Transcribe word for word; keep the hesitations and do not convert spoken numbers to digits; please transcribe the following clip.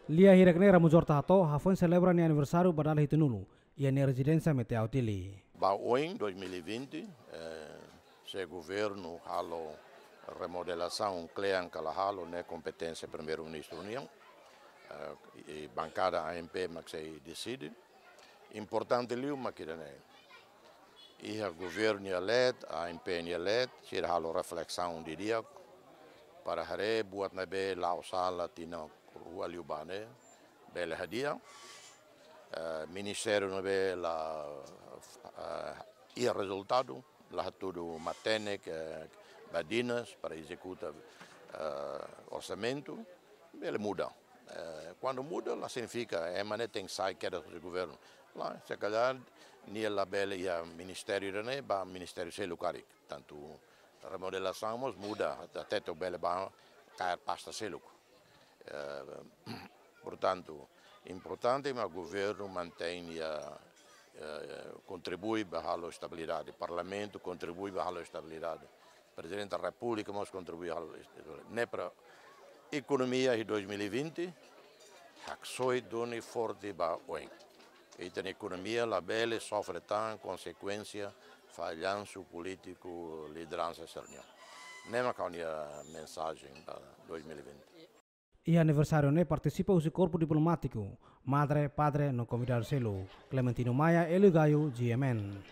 Lia hirak ne'e Ramos Horta hato'o, hafoin selebra nia aniversáriu ba dala hitunulu iha nia rezidénsia Meteau Dili. Ba oin dois mil e vinte, eh, se governu halo remodelasaun kle'an ka la halo, ne'e kompeténsia Primeiru-Ministru nian, eh, i bankada A M P mak sei deside. Importante liu mak ida-ne'e. Iha governu nia leet, A M P nia leet, sira halo reflesaun didi'ak, para haree buat ne'ebé la'o sala tinan rua liubá ne'e, bele hadi'a. Eh, ministériu ne'ebé la, eh, iha rezultadu, la hatudu matenek, eh, badinas para ezekuta, eh, orsamentu, bele muda. Eh, kuandu muda, la signifika ema ne'e tenke sai kedas husi governu. La, se kalhar, nia labele iha ministériu ida-ne'e, ba ministériu seluk karik. Tantu remodelasaun mós muda, até to'o bele ba kaer pasta seluk. Eh, portantu, importante mak governu mantein nia, eh, kontribui ba halo estabilidade. Parlamentu kontribui ba halo estabilidade. Prezidente da Repúblika mós kontribui halo estabilidade. Ne'e para ekonomia iha dois mil e vinte, haksoit duni forte ba oin. Ita-nia ekonomia labele sofre tan konsekuénsia fallansu polítiku lideransa sira-nian. Ne'e mak ha'u-nia mensajen ba dois mil e vinte. Iha aniversáriu ne'e partisipa husi korpu diplomátiku, madre, padre no konvidadu seluk. Clementino Maia, Hélio Gaio, G M N.